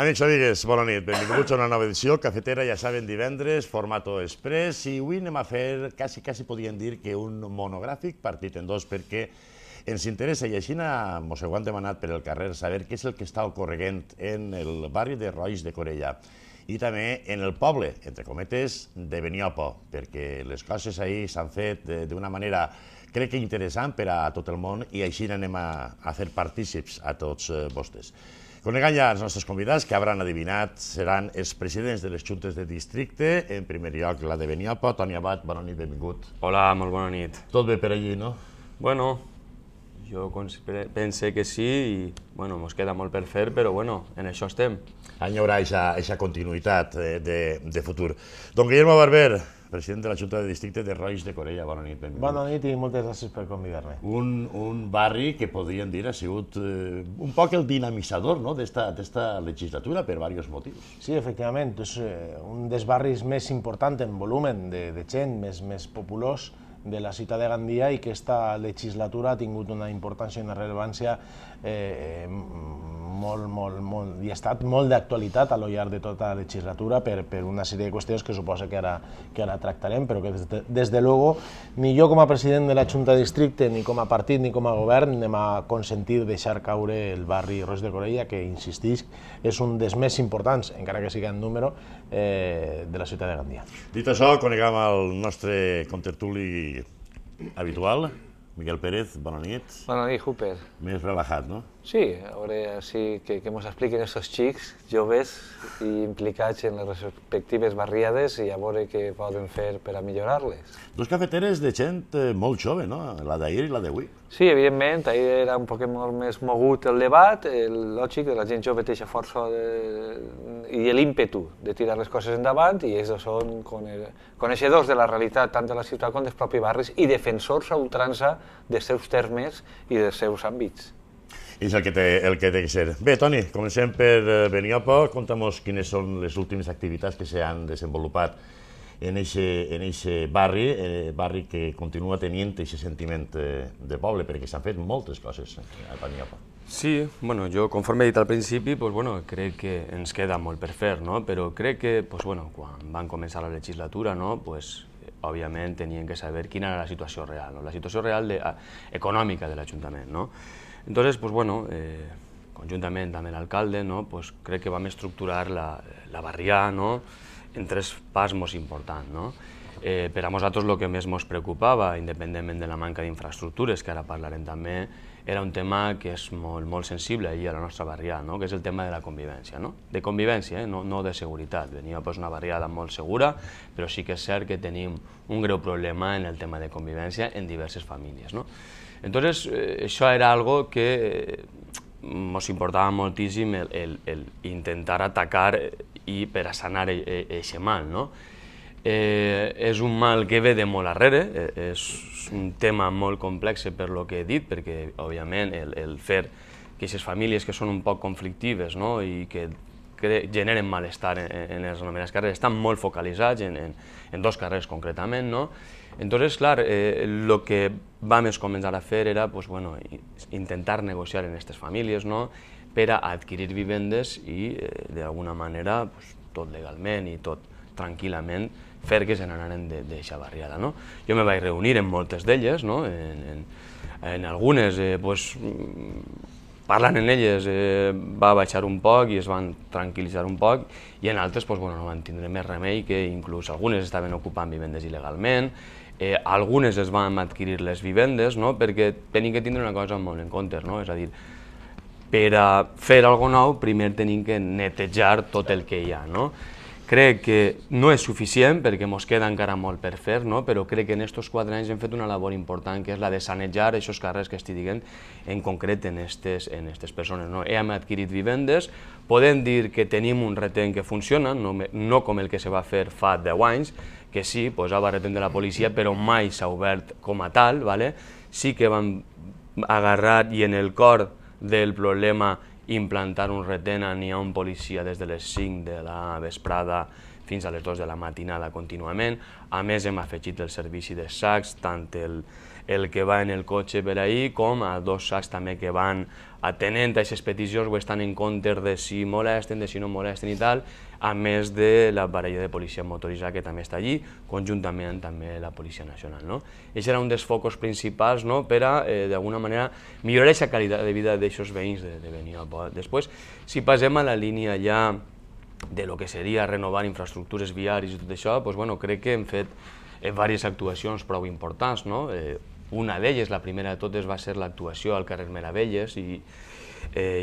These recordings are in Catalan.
Amics, amigues, bona nit. Benvinguts a una nova edició. Cafetera, ja saben, divendres, formato express. I avui anem a fer, quasi podríem dir que un monogràfic partit en dos, perquè ens interessa, i així mos ho han demanat per el carrer, saber què és el que està ocorrent en el barri de Roix de Corella i també en el poble, entre cometes, de Beniopo, perquè les coses ahir s'han fet d'una manera, crec que interessant per a tot el món, i així anem a fer partícips a tots vostès. Coneguem ja els nostres convidats, que hauran adivinat, seran els presidents de les juntes de districte. En primer lloc, la de Beniopo. Toni Abad, bona nit, benvingut. Hola, molt bona nit. Tot bé per allí, no? Bueno, jo pense que sí i mos queda molt per fer, però en això estem. Hi haurà aquesta continuïtat de futur. Don Guillermo Barber, president de la Junta de Districte de Roix de Corella, bona nit, benvingut. Bona nit i moltes gràcies per convidar-me. Un barri que podríem dir ha sigut un poc el dinamitzador d'esta legislatura per diversos motius. Sí, efectivament, és un dels barris més importants en volum de gent, més populós de la ciutat de Gandia, i que aquesta legislatura ha tingut una importància i una rellevància i ha estat molt d'actualitat a lo llarg de tota la legislatura per una sèrie de qüestions que suposa que ara tractarem, però que des de luego ni jo com a president de la Junta de Districte, ni com a partit, ni com a govern anem a consentir deixar caure el barri Roix de Corella, que, insistisc, és un dels més importants, encara que sigui en número, de la ciutat de Gandia. Dit això, coneguem el nostre contertuli habitual, Miguel Pérez, bona nit. Bona nit, Hooper. Més relajat, no? Sí, a veure que ens expliquen aquests xics joves i implicats en les respectives barriades i a veure què poden fer per a millorar-les. Dos cafeteres de gent molt jove, no? La d'ahir i la d'avui. Sí, evidentment, ahir era un poc molt més mogut el debat, lògic, la gent jove té força i l'ímpetu de tirar les coses endavant, i ells són coneixedors de la realitat tant de la ciutat com dels propis barris i defensors a ultrança dels seus termes i dels seus àmbits. És el que té que ser. Bé, Toni, comencem per Beniopo. Conta'm quines són les últimes activitats que s'han desenvolupat en aquest barri que continua tenint aquest sentiment de poble, perquè s'han fet moltes coses a Beniopo. Sí, jo, conforme he dit al principi, crec que ens queda molt per fer, però crec que quan van començar la legislatura, òbviament tenien que saber quina era la situació real, la situació real econòmica de l'Ajuntament. Entonces, conjuntament amb l'alcalde, crec que vam estructurar la barrià en tres parts molt importants. Per a nosaltres el que més ens preocupava, independentment de la manca d'infraestructures, que ara parlarem també, era un tema que és molt sensible a la nostra barrià, que és el tema de la convivència. De convivència, no de seguretat. Beniopo és una barriada molt segura, però sí que és cert que tenim un greu problema en el tema de convivència en diverses famílies. Entonces, això era algo que ens importava moltíssim el intentar atacar i per a sanar aquest mal. És un mal que ve de molt arrere, és un tema molt complex per lo que he dit, perquè, òbviament, el fer que aquestes famílies que són un poc conflictives i que generen malestar en les anomenades carrers estan molt focalitzats en dos carrers concretament. Entonces, clar, el que vam començar a fer era intentar negociar en aquestes famílies per a adquirir vivendes i, d'alguna manera, tot legalment i tot tranquil·lament, fer que se n'anaren d'aquesta barriada. Jo me vaig reunir amb moltes d'elles, en algunes, parlant amb elles, va baixar un poc i es van tranquil·litzar un poc, i en altres no van tindre més remei, que inclús algunes estaven ocupant vivendes il·legalment, algunes es van adquirir les vivendes, perquè tenim que tindre una cosa molt en compte, és a dir, per a fer alguna cosa nou, primer tenim que netejar tot el que hi ha. Crec que no és suficient, perquè ens queda encara molt per fer, però crec que en aquests 4 anys hem fet una labor important, que és la de sanejar aquests carrers que estic dient, en concret en aquestes persones. Hem adquirit vivendes, podem dir que tenim un retén que funciona, no com el que se va fer fa 10 anys, que sí, posava retén de la policia, però mai s'ha obert com a tal. Sí que vam agarrar, i en el cor del problema, implantar un retén, n'hi ha un policia des de les 5 de la vesprada fins a les 2 de la matinada contínuament. A més, hem afegit el servici de sacs, tant el que va en el cotxe per ahir, com a 2 sacs també que van atenent a aquestes peticions o estan en compte de si molesten, de si no molesten i tal, a més de la parella de policia motoritzada que també està allí, conjuntament també la Policia Nacional. Aquest era un dels focus principals per a, d'alguna manera, millorar aquesta qualitat de vida d'aquests veïns de Beniopa. Després, si passem a la línia ja de lo que seria renovar infraestructures viàries i tot això, crec que hem fet diverses actuacions prou importants. Una d'elles, la primera de totes, va ser l'actuació al carrer Meravelles i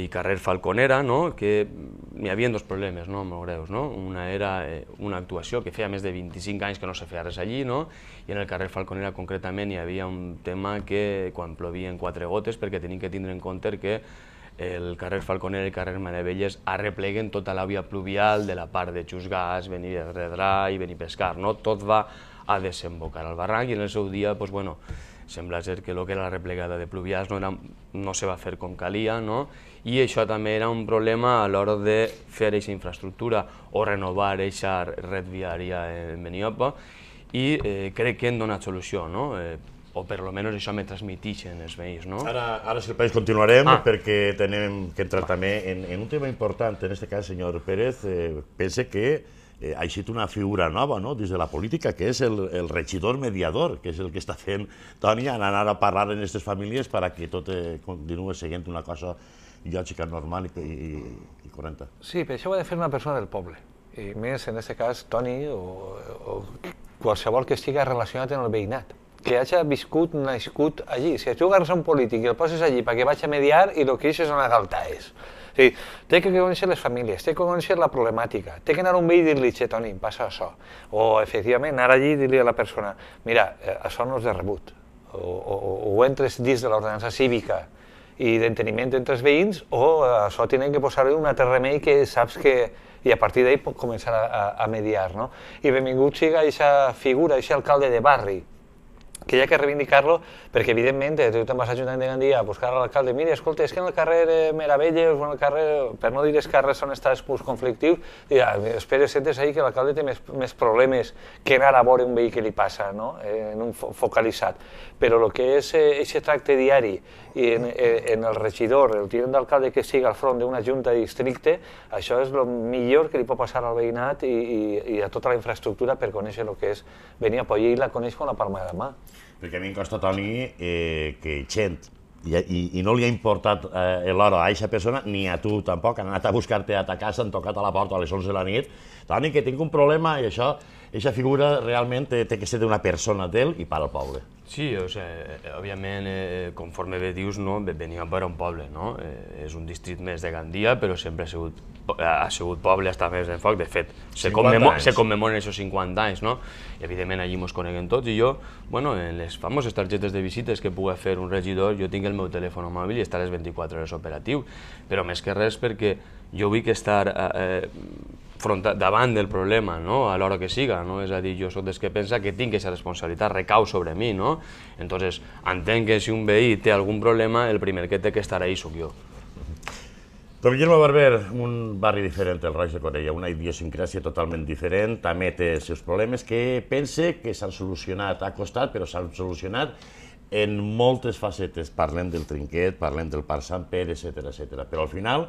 carrer Falconera, que n'hi havia 2 problemes molt greus. Una era una actuació que feia més de 25 anys que no se feia res allí, i en el carrer Falconera concretament hi havia un tema que quan plovien 4 gotes, perquè tenim que tindre en compte que el carrer Falconera i el carrer Meravelles arrepleguen tota la via pluvial de la part de Xusgàs, Benirredrà i Benipescar. Tot va a desembocar al barranc i en el seu dia, sembla ser que el que era la replegada de pluvials no se va fer com calia, i això també era un problema a l'hora de fer aquesta infraestructura o renovar aquesta red viària en Beniopa, i crec que hem donat solució, o per almenys això me transmetixen els veïns. Ara, si el país, continuarem, perquè tenim que entrar també en un tema important. En aquest cas, senyor Pérez, pense que ha eixit una figura nova dins de la política, que és el regidor mediador, que és el que està fent Toni, anar a parlar en aquestes famílies perquè tot continuï seguint una cosa lògica, normal i correcta. Sí, però això ho ha de fer una persona del poble. I més, en aquest cas, Toni o qualsevol que estigui relacionat amb el veïnat, que hagi viscut, nascut allí. Si tu agarres un polític i el poses allí perquè vaig a mediar i el que és una galta és. Té que conèixer les famílies, té que conèixer la problemàtica, té que anar a un veí i dir-li, Toni, passa això. O, efectivament, anar allí i dir-li a la persona, mira, això no és de rebut. O entres dins de l'ordenança cívica i d'enteniment entre els veïns, o això tenen que posar-hi un altre remei que saps que... i a partir d'ahir pot començar a mediar. I benvingut siga aquesta figura, aquest alcalde de barri, que hi ha que reivindicar-lo, perquè evidentment tu te'n vas a l'Ajuntament de Gandia a buscar a l'alcalde, mira, escolta, és que en el carrer Meravelles o en el carrer, per no dir els carrers on estàs conflictius, espera, sentes ahir que l'alcalde té més problemes que anar a veure un veí que li passa, en un focalitzat. Però el que és aquest tracte diari i en el regidor, el tinent d'alcalde que siga al front d'una junta de districte, això és el millor que li pot passar al veïnat i a tota la infraestructura per conèixer el que és Beniopa, i ell la coneix com la palma de la mà. Perquè a mi em costa, Toni, que gent, i no li ha importat l'hora a aquesta persona, ni a tu tampoc, han anat a buscar-te a ta casa, han tocat a la porta a les 11 de la nit, Toni, que tinc un problema, i això, aquesta figura realment té que ser d'una persona d'ell i per al poble. Sí, òbviament, conforme bé dius, Beniopa era un poble, és un districte més de Gandia, però sempre ha sigut poble, està més en foc. De fet, se commemoren aquests 50 anys, i evidentment allí ens coneguem tots, i jo, en les famoses targetes de visites que pugui fer un regidor, jo tinc el meu telèfon mòbil i està a les 24 hores operatiu, però més que res perquè jo vull estar davant del problema, a l'hora que siga, és a dir, jo soc dels que pensa que tinc aquesta responsabilitat, recau sobre mi, entonces entenc que si un veí té algun problema, el primer que té que estar ahí sóc jo. Don Guillermo Barber, un barri diferent del Roig de Corella, una idiosincràsia totalment diferent, també té els seus problemes que pense que s'han solucionat, ha costat, però s'han solucionat en moltes facetes. Parlem del Trinquet, parlem del Parc Sant Pere, etc. Però al final,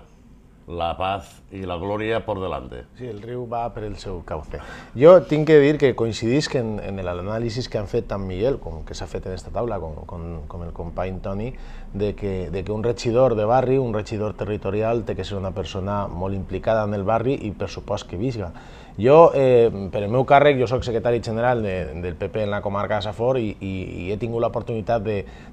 la paz i la glòria por delante. Sí, el riu va per el seu cauce. Jo tinc que dir que coincidisc en l'anàlisi que han fet tant Miguel com que s'ha fet en aquesta taula, com el company Toni, de que un regidor de barri, un regidor territorial, té que ser una persona molt implicada en el barri i per supost que visga. Jo, per el meu càrrec, jo soc secretari general del PP en la comarca de Safor i he tingut l'oportunitat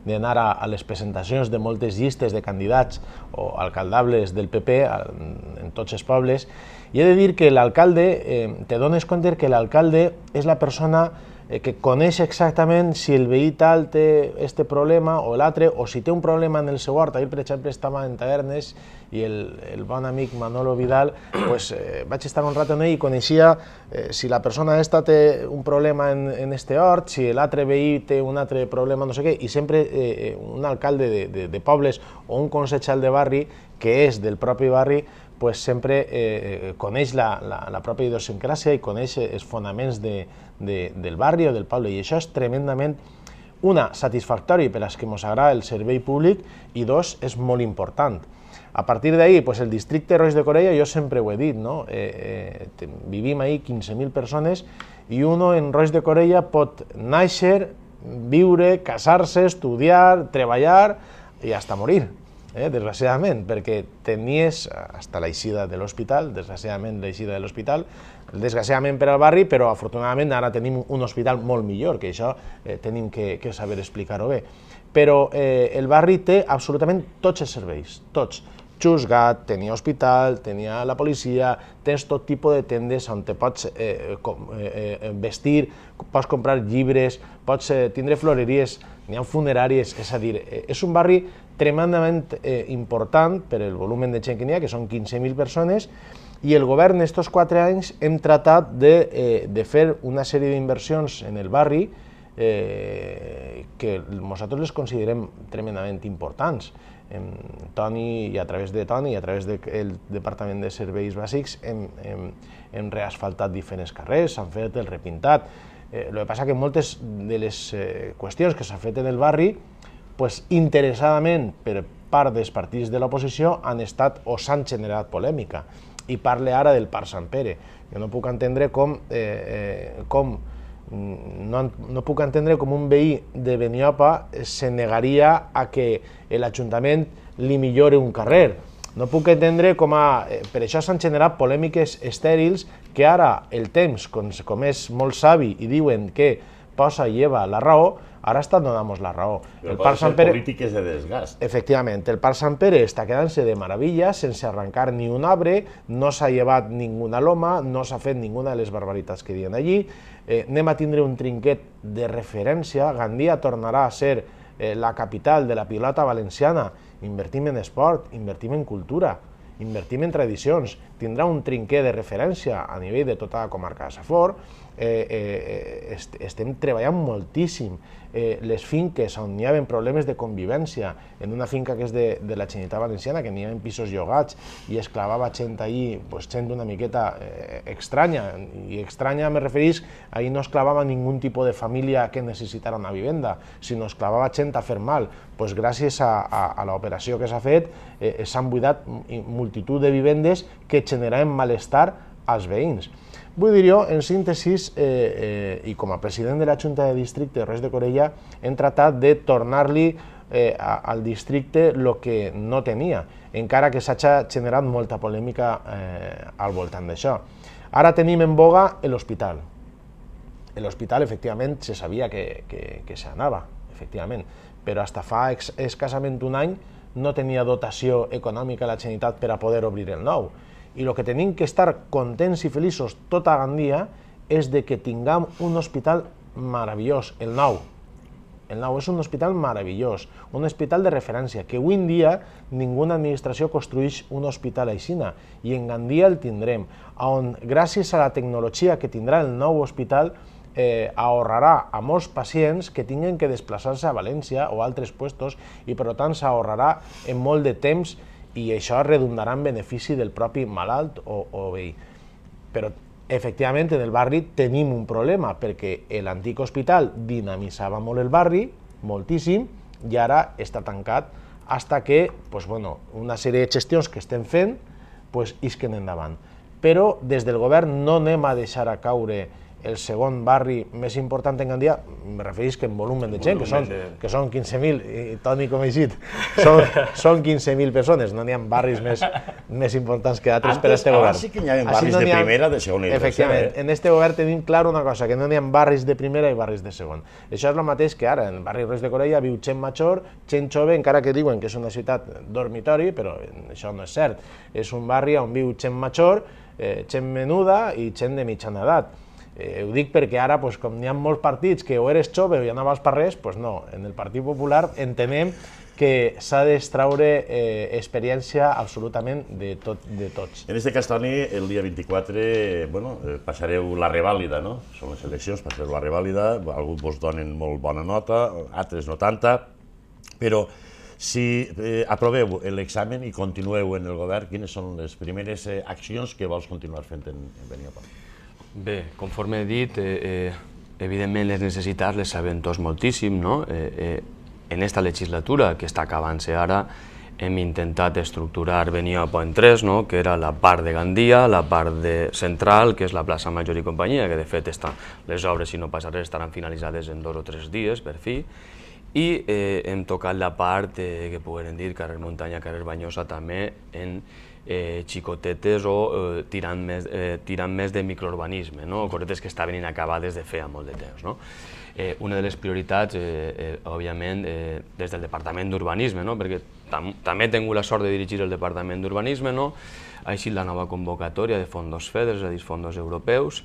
d'anar a les presentacions de moltes llistes de candidats o alcaldables del PP en tots els pobles, i he de dir que l'alcalde, te dones compte que l'alcalde és la persona que coneix exactament si el veí tal té aquest problema o l'altre, o si té un problema en el seu hort. Ahir, per exemple, estava en Tavernes i el bon amic Manolo Vidal, vaig estar un rato amb ell i coneixia si la persona aquesta té un problema en este hort, si l'altre veí té un altre problema, no sé què, i sempre un alcalde de pobles o un consellal de barri que és del propi barri, sempre coneix la pròpia idiosincràsia i coneix els fonaments del barri o del poble, i això és tremendament, una, satisfactori per als que ens agrada el servei públic, i dos, és molt important. A partir d'ahir, el districte Roix de Corella, jo sempre ho he dit, vivim ahir 15.000 persones i uno en Roix de Corella pot néixer, viure, casar-se, estudiar, treballar i fins a morir, desgraciadament, perquè tenies fins l'eixida de l'hospital, desgraciadament l'eixida de l'hospital, desgraciadament per al barri, però afortunadament ara tenim un hospital molt millor, que això tenim que saber explicar-ho bé. Però el barri té absolutament tots els serveis, tots. Xusgat, tenia hospital, tenia la policia, tens tot tipus de tendes on te pots vestir, pots comprar llibres, pots tindre floreries, n'hi ha funeràries, és a dir, és un barri tremendament important per el volum de gent que n'hi ha, que són 15.000 persones, i el govern estos 4 anys hem tratat de fer una sèrie d'inversions en el barri que nosaltres les considerem tremendament importants. Toni, i a través de Toni i a través del Departament de Serveis Bàsics hem reasfaltat diferents carrers, s'han fet el repintat. El que passa que moltes de les qüestions que s'han fet en el barri, interessadament per part dels partits de l'oposició, han estat o s'han generat polèmica. I parle ara del Parc Sant Pere. Jo no puc entendre com un veí de Beniopa se negaria a que l'Ajuntament li millore un carrer. No puc entendre com per això s'han generat polèmiques estèrils que ara el temps, com és molt savi i diuen que posa i lleva la raó, ara està donant-nos la raó. Però poden ser polítiques de desgast. Efectivament, el Parc Sant Pere està quedant-se de meravella, sense arrencar ni un arbre, no s'ha llevat ninguna loma, no s'ha fet ninguna de les barbaritats que diuen allí, anem a tindre un trinquet de referència, Gandia tornarà a ser la capital de la pilota valenciana, invertim en esport, invertim en cultura, invertim en tradicions, tindrà un trinquet de referència a nivell de tota la comarca de Safor, estem treballant moltíssim. Les finques on hi havia problemes de convivència, en una finca que és de la Generalitat Valenciana, que n'hi havia pisos llogats i es clavava gent allí, gent una miqueta estranya, i estranya me referís, ahí no es clavava ningú tipus de família que necessitara una vivenda, sinó es clavava gent a fer mal. Gràcies a l'operació que s'ha fet, s'han buidat multitud de vivendes que generaven malestar als veïns. Vull dir jo, en síntesis, i com a president de la Junta de Districte de Roix de Corella, hem tratat de tornar-li al districte el que no tenia, encara que s'ha generat molta polèmica al voltant d'això. Ara tenim en boga l'hospital. L'hospital, efectivament, se sabia que s'anava, efectivament, però fins fa escassament un any no tenia dotació econòmica la Generalitat per a poder obrir el nou. I el que tenim que estar contents i feliços tota Gandia és de que tinguem un hospital meravellós, el nou. El nou és un hospital meravellós, un hospital de referència, que avui en dia ninguna administració construeix un hospital aixina, i en Gandia el tindrem, on gràcies a la tecnologia que tindrà el nou hospital ahorrarà a molts pacients que tinguin que desplaçar-se a València o a altres puestos, i per tant s'ahorrarà en molt de temps, i això redundarà en benefici del propi malalt o veí. Però, efectivament, en el barri tenim un problema, perquè l'antic hospital dinamitzava molt el barri, moltíssim, i ara està tancat fins que una sèrie de gestions que estem fent isquen endavant. Però des del govern no anem a deixar a caure el segon barri més important en Gandia, me referís que en volum de gent, que són 15.000, i Toni com he dit, són 15.000 persones, no n'hi ha barris més importants que altres per a aquest govern. Abans sí que n'hi havia barris de primera, de segona i de tercera. Efectivament, en aquest govern tenim clar una cosa, que no n'hi ha barris de primera i barris de segon. Això és el mateix que ara, en el barri Roix de Corella viu gent major, gent jove, encara que diuen que és una ciutat dormitori, però això no és cert. És un barri on viu gent major, gent menuda i gent de mitjana edat. Ho dic perquè ara, com n'hi ha molts partits que o eres jove o ja anaves per res, doncs no, en el Partit Popular entenem que s'ha d'extraure experiència absolutament de tots. En aquest cas, Toni, el dia 24 passareu la revàlida, no? Són les eleccions, passareu la revàlida, alguns vos donen molt bona nota, altres no tanta, però Si aproveu l'examen i continueu en el govern, quines són les primeres accions que vols continuar fent en Beniopa? Bé, conforme he dit, evidentment les necessitats les sabem tots moltíssim, no? En esta legislatura, que està acabant-se ara, hem intentat estructurar Beniopa en tres, no? Que era la part de Gandia, la part central, que és la plaça Major i companyia, que de fet les obres, si no passa res, estaran finalitzades en 2 o 3 dies, per fi, i hem tocat la part que podem dir carrer Muntanya, carrer Banyosa, també en xicotetes o tirant més de microurbanisme, cosetes que estaven inacabades de feia molt de temps. Una de les prioritats, òbviament, des del Departament d'Urbanisme, perquè també he tingut la sort de dirigir el Departament d'Urbanisme, ha eixit la nova convocatòria de fondos FEDER, és a dir, fondos europeus,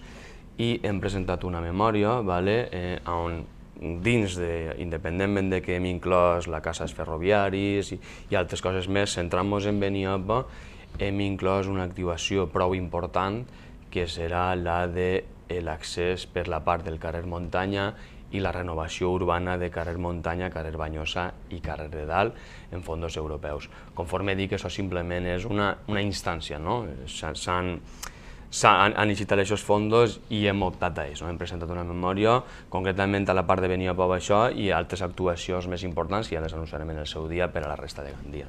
i hem presentat una memòria on dins, independentment de que hem inclòs la Casa dels Ferroviaris i altres coses més, centrant-nos en Beniopa, hem inclòs una activació prou important, que serà la de l'accés per la part del carrer Muntanya i la renovació urbana de carrer Muntanya, carrer Banyosa i carrer de Dalt en fondos europeus. Conforme dic, això simplement és una instància, han licitat aquests fondos i hem optat a ells. Hem presentat una memòria, concretament a la part de Beniopa per això i altres actuacions més importants que ja les anunciarem en el seu dia per a la resta de Gandia.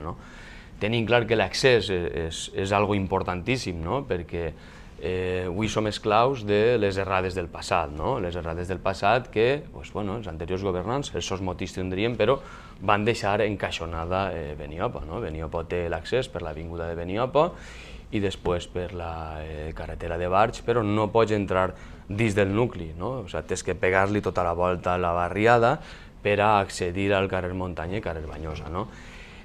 Tenim clar que l'accés és algo importantíssim, perquè avui som esclaus de les errades del passat, les errades del passat que els anteriors governants, els seus motius tindrien, però van deixar encaixonada Beniopa. Beniopa té l'accés per l'avinguda de Beniopa i després per la carretera de Barx, però no pots entrar dins del nucli, tens que pegar-li tota la volta a la barriada per a accedir al carrer Muntanya i carrer Banyosa.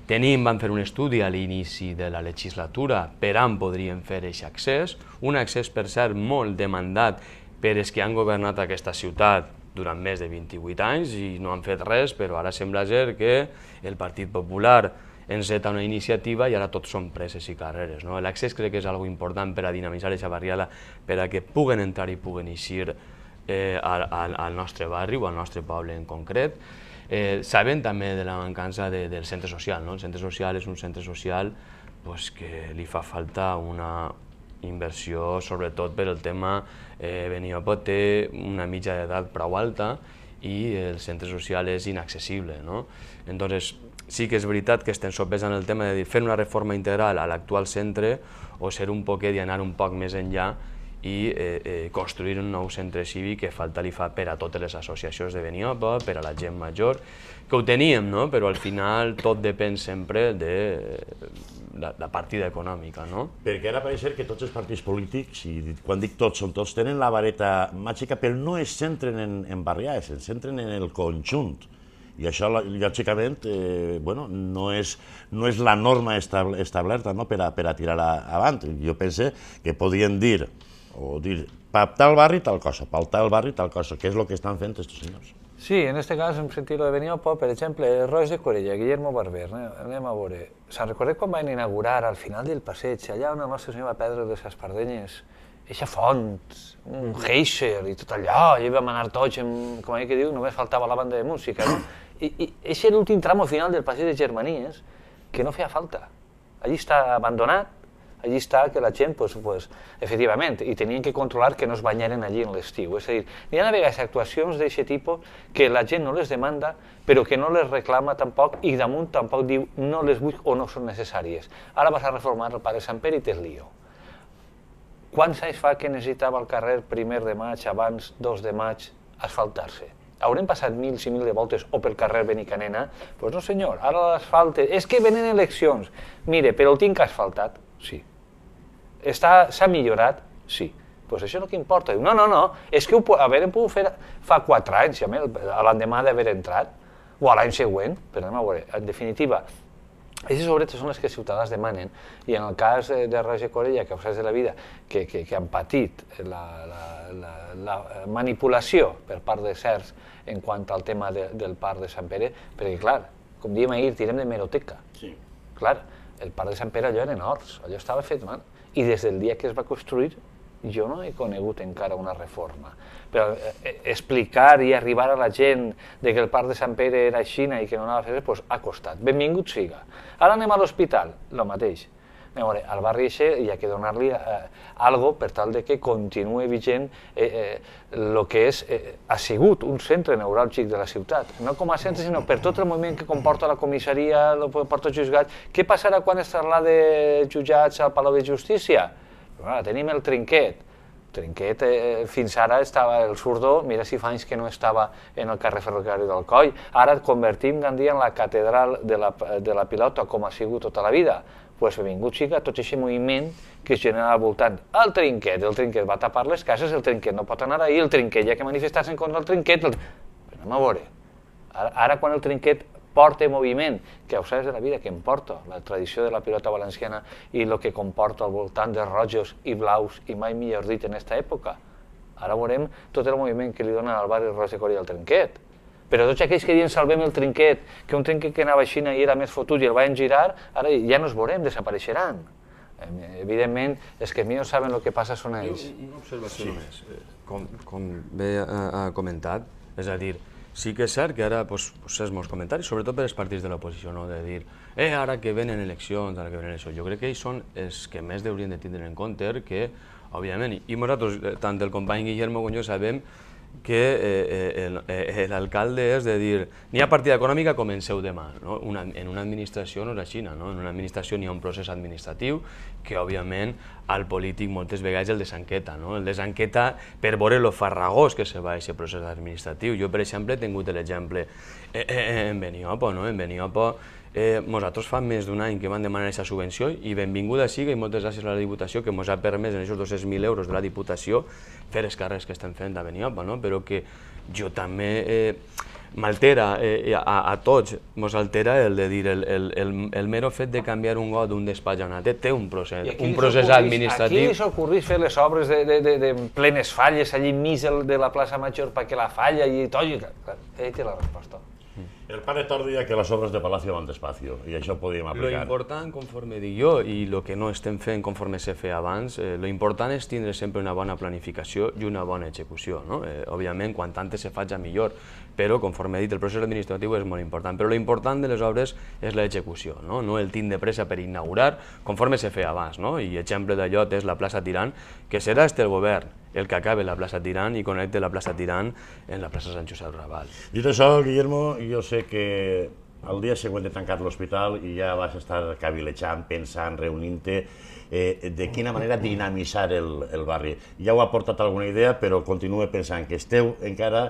Vam fer un estudi a l'inici de la legislatura per on podríem fer aquest accés, un accés, per cert, molt demandat per els que han governat aquesta ciutat durant més de 28 anys i no han fet res, però ara sembla ser que el Partit Popular enceta una iniciativa i ara tots són preses i carreres. L'accés crec que és una cosa important per a dinamitzar aquesta barriada, per a que puguen entrar i puguen eixir al nostre barri o al nostre poble en concret. Sabem també de la mancança del centre social. El centre social és un centre social que li fa falta una inversió, sobretot per el tema Beniopa té una mitja d'edat prou alta i el centre social és inaccessible. Entonces, sí que és veritat que estem sopesant el tema de fer una reforma integral a l'actual centre o ser un poquet i anar un poc més enllà i construir un nou centre cívic que falta li fa per a totes les associacions de Beniopa, per a la gent major, que ho teníem, però al final tot depèn sempre de la partida econòmica. Perquè ara pareix que tots els partits polítics, i quan dic tots són tots, tenen la vareta màgica, però no es centren en barriades, es centren en el conjunt. I això, lògicament, no és la norma establerta per a tirar avant. Jo penso que podien dir, per tal barri tal cosa, per tal barri tal cosa, que és el que estan fent aquests senyors. Sí, en este cas hem sentit lo de Beniopa, per exemple, Roig de Corella, Guillermo Barber, anem a veure. Se'n recorda quan van inaugurar al final del passeig, allà on el nostre senyor va perdre les espardenyes, eixa font, un geisser i tot allò, allà vam anar tots, com que diu, només faltava la banda de música, I és l'últim tram final del passeig de Germanies que no feia falta. Allí està abandonat, allí està que la gent, efectivament, i tenien que controlar que no es banyaren allí en l'estiu. És a dir, hi ha a vegades actuacions d'aquest tipus que la gent no les demanda, però que no les reclama tampoc i damunt tampoc diu no les vull o no són necessàries. Ara vas a reformar el Pare Sant Pere i tens lío. Quants anys fa que necessitava el carrer 1 de maig, abans 2 de maig, asfaltar-se? Haurem passat mils i mil de voltes o pel carrer Benicanena? Doncs no senyor, ara l'asfalte, és que venen eleccions. Mire, però el tinc asfaltat? Sí. S'ha millorat? Sí. Doncs això és el que importa. No, és que haurem pogut fer fa 4 anys, l'endemà d'haver entrat, o a l'any següent, però anem a veure, en definitiva, aquestes obretes són les que els ciutadans demanen i en el cas de Roig de Corella, que de la vida, que han patit la manipulació per part de certs en quant al tema del Parc de Sant Pere, perquè clar, com dèiem ahir, tirem de meroteca. Clar, el Parc de Sant Pere allò eren horts, allò estava fet mal, i des del dia que es va construir jo no he conegut encara una reforma. Però explicar i arribar a la gent que el parc de Sant Pere era així i que no anava a fer res, doncs ha costat. Benvingut siga. Ara anem a l'hospital, el mateix. Al barri això hi ha que donar-li alguna cosa per tal que continuï vigent el que ha sigut un centre neuràlgic de la ciutat. No com a centre, sinó per tot el moviment que comporta la comissaria, porta els jutjats. Què passarà quan es traslada jutjats al Palau de Justícia? Tenim el Trinquet. Trinquet fins ara estava el Surdó, mira si fa anys que no estava en el carrer ferroviari del Coll. Ara convertim Gandia en la catedral de la pilota, com ha sigut tota la vida. Doncs benvingut siga tot aquest moviment que es genera al voltant. El Trinquet va tapar les cases, el Trinquet no pot anar ahir, el Trinquet hi ha que manifestar-se contra el Trinquet. Però anem a veure, ara quan el Trinquet porta moviment, que ho saps de la vida, que em porta la tradició de la pilota valenciana i el que comporta al voltant de rojos i blaus, i mai millor dit en aquesta època. Ara veurem tot el moviment que li donen al barri Roig de Corella al Trinquet. Però tots aquells que diuen salvem el Trinquet, que un Trinquet que anava així i era més fotut i el van girar, ara ja no els veurem, desapareixeran. Evidentment, els que millor saben el que passa són ells. Una observació només. Com bé ha comentat, és a dir, sí que és cert que ara és molts comentaris, sobretot per als partits de l'oposició, de dir ara que venen eleccions, ara que venen eleccions. Jo crec que ells són els que més haurien de tindre en compte que, òbviament, i nosaltres, tant el company Guillermo com jo, sabem que l'alcalde és de dir n'hi ha partida econòmica, comenceu demà. En una administració no és així, en una administració n'hi ha un procés administratiu que òbviament al polític moltes vegades el desenqueta, el desenqueta per veure lo farragós que se va aquest procés administratiu. Jo, per exemple, he tingut l'exemple en Beniopo. En Beniopo nosaltres fa més d'un any que vam demanar aquesta subvenció i benvinguda siga i moltes gràcies a la Diputació que ens ha permès en aquests 200.000 euros de la Diputació fer els carrers que estem fent a Beniopo, però que jo també m'altera a tots, ens altera el de dir el mero fet de canviar un got d'un despatx a un altre té un procés administratiu. A qui li s'ocorrís fer les obres de plenes falles allà enmig de la plaça Major perquè la falla i tot? Ell té la resposta. El pare Tor deia que les obres de Palacio van despacio, i això ho podíem aplicar. Lo important, conforme dic jo, i el que no estem fent conforme se feia abans, lo important és tindre sempre una bona planificació i una bona execució. Òbviament, quan antes se faci millor, però, conforme he dit, el procés administratiu és molt important. Però l'important de les obres és l'execució, no el tindre pressa per inaugurar, conforme se feia abans. I exemple d'allò és la plaça Tirant, que serà el govern el que acabe la plaça Tirant i connecte la plaça Tirant en la plaça Sant Josep Raval. Dit això, Guillermo, jo sé que el dia següent de tancar l'hospital i ja vas estar cavilejant, pensant, reunint-te de quina manera dinamitzar el barri. Ja ho ha portat alguna idea, però continue pensant que esteu encara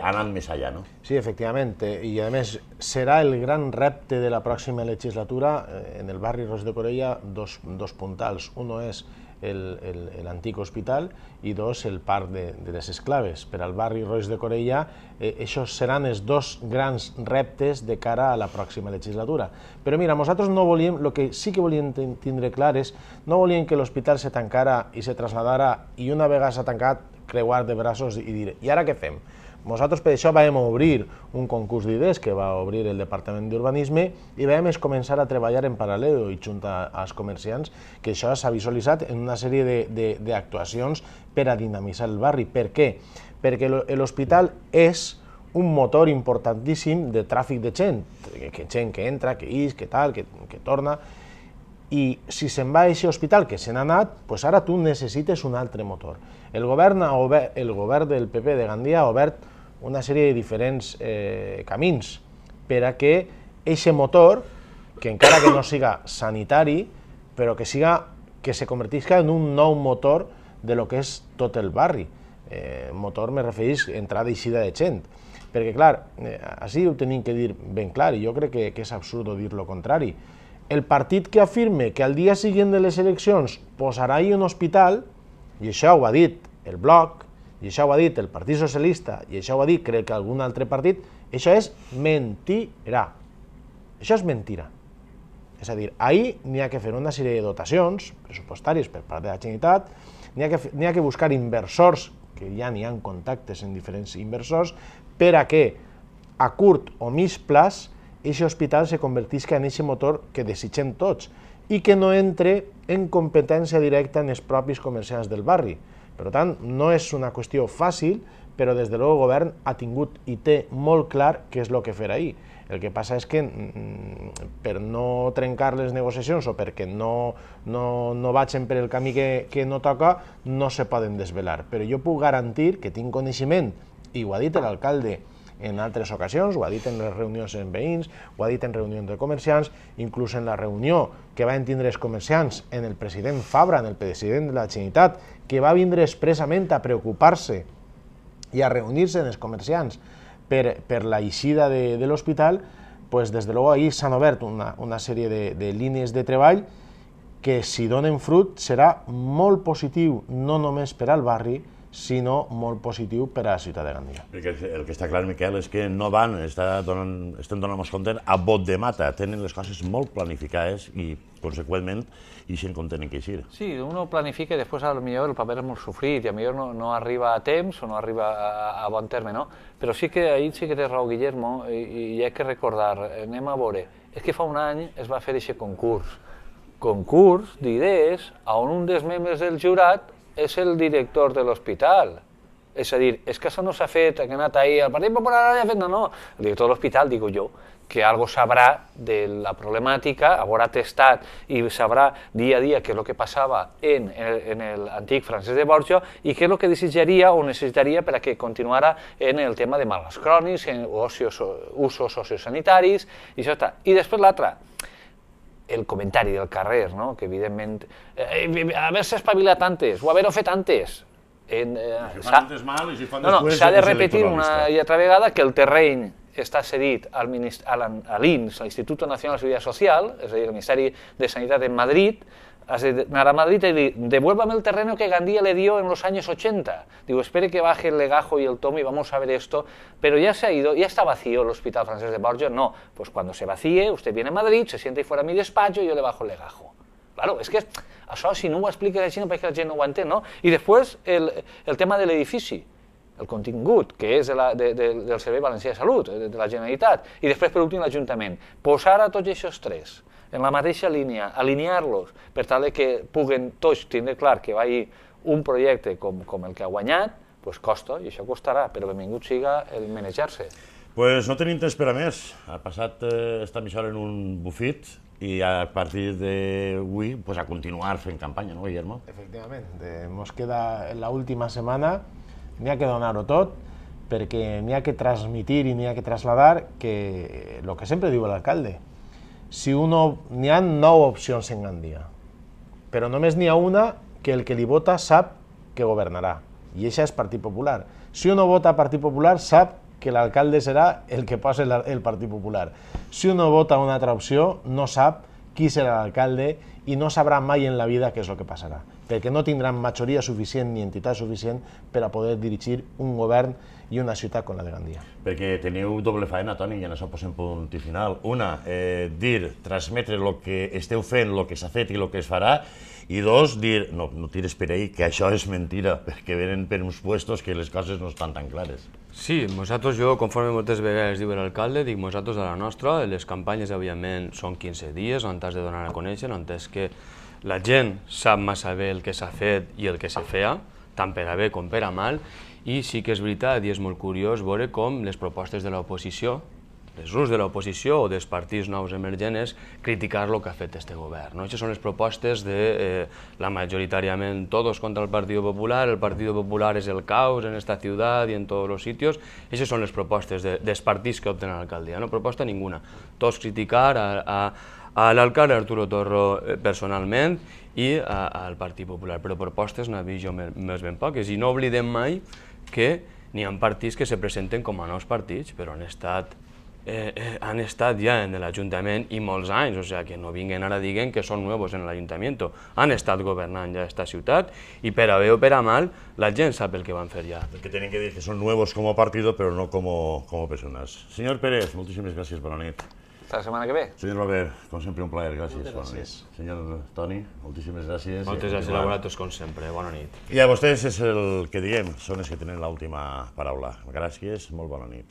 anant més allà, no? Sí, efectivament, i a més serà el gran repte de la pròxima legislatura en el barri Roig de Corella dos puntals. Uno és l'antic hospital i dos, el parc de les Esclaves. Per al barri Roig de Corella, això seran els dos grans reptes de cara a la pròxima legislatura. Però mira, nosaltres no volíem, el que sí que volíem tindre clar és, no volíem que l'hospital se tancara i se traslladara i una vegada s'ha tancat, creuar de braços i dir, i ara què fem? Nosaltres per això vam obrir un concurs d'idees que va obrir el Departament d'Urbanisme i vam començar a treballar en paral·lel i junt als comerciants, que això s'ha visualitzat en una sèrie d'actuacions per a dinamitzar el barri. Per què? Perquè l'hospital és un motor importantíssim de tràfic de gent que entra, que ix, que tal, que torna, i si se'n va a aquest hospital que se n'ha anat, doncs ara tu necessites un altre motor. El govern del PP de Gandia ha obert una sèrie de diferents camins per a que aquest motor, que encara que no siga sanitari, però que se convertisca en un nou motor de lo que és tot el barri. Motor me refereix a entrada i eixida de gent. Perquè, clar, així ho tenim que dir ben clar, i jo crec que és absurd dir lo contrari. El partit que afirme que al dia següent de les eleccions posarà ahí un hospital, i això ho ha dit el Bloc, i això ho ha dit el Partit Socialista, i això ho ha dit crec que algun altre partit, això és mentira. Això és mentira. És a dir, ahir n'hi ha que fer una sèrie de dotacions pressupostàries per part de la Generalitat, n'hi ha que buscar inversors, que ja n'hi ha contactes en diferents inversors, per a que a curt o mig plaç aquest hospital se convertisca en aquest motor que desitgem tots, i que no entre en competència directa en els propis comerciants del barri. Per tant, no és una qüestió fàcil, però des de luego el govern ha tingut i té molt clar què és el que fer ahir. El que passa és que per no trencar les negociacions o perquè no vagin per el camí que no toca, no se poden desvelar. Però jo puc garantir que tinc coneixement, i ho ha dit l'alcalde en altres ocasions, ho ha dit en les reunions amb veïns, ho ha dit en reunions de comerciants, inclús en la reunió que van tindre els comerciants en el president Fabra, en el president de la Generalitat, que va vindre expressament a preocupar-se i a reunir-se amb els comerciants per la eixida de l'hospital, pues des de luego ahir s'han obert una sèrie de línies de treball que, si donen fruit, serà molt positiu, no només per al barri, sinó molt positiu per a la ciutat de Gandia. Perquè el que està clar, Miquel, és que no van, estem donant-nos compte a bot de mata, tenen les coses molt planificades i, conseqüentment, ixen com tenen que eixir. Sí, uno planifica i després potser el paper és molt sofrit i potser no arriba a temps o no arriba a bon terme, no? Però sí que ahir sí que té raó Guillermo i hi ha que recordar, anem a veure, és que fa un any es va fer aquest concurs d'idees on un dels membres del jurat és el director de l'hospital. És a dir, és que això no s'ha fet, que ha anat ahir, el Partit Popular ha fet, no. El director de l'hospital, digo jo, que algo sabrà de la problemàtica, haurà testat i sabrà dia a dia què és el que passava en l'antic Francesc de Borja i què és el que desitjaria o necessitaria per a que continuara en el tema de malalts crònics, en usos sociosanitaris, i això està. I després l'altre, el comentari del carrer, que evidentment, haver-se espavilat antes o haver-ho fet antes. Si fan antes mal i si fan després... S'ha de repetir una i altra vegada que el terreny està cedit a l'INS, a l'Institut Nacional de Seguridad Social, és a dir, el Ministeri de Sanitat en Madrid, has d'anar a Madrid i dir, devuélvame el terreno que Gandía le dio en los años 80. Digo, espere que baje el legajo y el tomo y vamos a ver esto. Pero ya se ha ido, ya está vacío el Hospital Francesc de Borja. No, pues cuando se vacíe, usted viene a Madrid, se sienta ahí fuera a mi despacho y yo le bajo el legajo. Claro, és que això, si no ho explica la gent, perquè la gent no ho entén, no? I després, el tema de l'edifici, el contingut, que és del Servei Valencià de Salut, de la Generalitat, i després, per últim, l'Ajuntament. Posar a tots aquests tres en la mateixa línia, alinear-los per tal que puguen tots tindre clar que va haver un projecte com el que ha guanyat, doncs costa, i això costarà, però benvingut siga el manejar-se. Doncs no tenim temps per a més. Ha passat esta emissora en un bufit i a partir d'avui a continuar fent campanya, no, Guillermo? Efectivament. Ens queda l'última setmana, n'hi ha que donar-ho tot, perquè n'hi ha que transmitir i n'hi ha que traslladar que el que sempre diu l'alcalde, n'hi ha 9 opcions en Gandia, però només n'hi ha una que el que li vota sap que governarà, i això és Partit Popular. Si uno vota Partit Popular, sap que l'alcalde serà el que posa el Partit Popular. Si uno vota una altra opció, no sap qui serà l'alcalde i no sabrà mai en la vida què és el que passarà, perquè no tindran majoria suficient ni entitat suficient per a poder dirigir un govern i una ciutat com la de Gandia. Perquè teniu doble faena, Toni, i en això posem punt i final. Una, transmetre el que esteu fent, el que s'ha fet i el que es farà, i dos, dir, no tires per ahí, que això és mentira, perquè venen per uns puestos que les coses no estan tan clares. Sí, nosaltres, jo, conforme moltes vegades diu l'alcalde, dic nosaltres de la nostra, les campanyes, òbviament, són 15 dies, on t'has de donar a conèixer, on és que la gent sap massa bé el que s'ha fet i el que se feia, tant per a bé com per a mal, i sí que és veritat, i és molt curiós veure com les propostes de l'oposició, els grups de l'oposició o dels partits nous emergents, criticar el que ha fet este govern. Aquestes són les propostes de, majoritàriament, todos contra el Partido Popular és el caos en esta ciutat i en tots els sitios. Aquestes són les propostes dels partits que opten a l'alcaldia, no proposta ninguna. Tots criticar a l'alcalde Arturo Torro personalment i al Partit Popular, però propostes n'ha vist jo més ben poques. I no oblidem mai que n'hi ha partits que se presenten com a nous partits, però han estat ja en l'Ajuntament i molts anys, o sigui que no vinguen ara diguen que són nous en l'Ajuntament. Han estat governant ja aquesta ciutat i per a bé o per a mal la gent sap el que van fer ja. El que tenen que dir que són nous com a partido però no com a persones. Senyor Pérez, moltíssimes gràcies, bona nit. Hasta la setmana que ve. Senyor Robert, com sempre un plaer, gràcies, bona nit. Senyor Toni, moltíssimes gràcies. Moltes gràcies a vosaltres com sempre, bona nit. I a vostès és el que diem, són els que tenen l'última paraula. Gràcies, molt bona nit.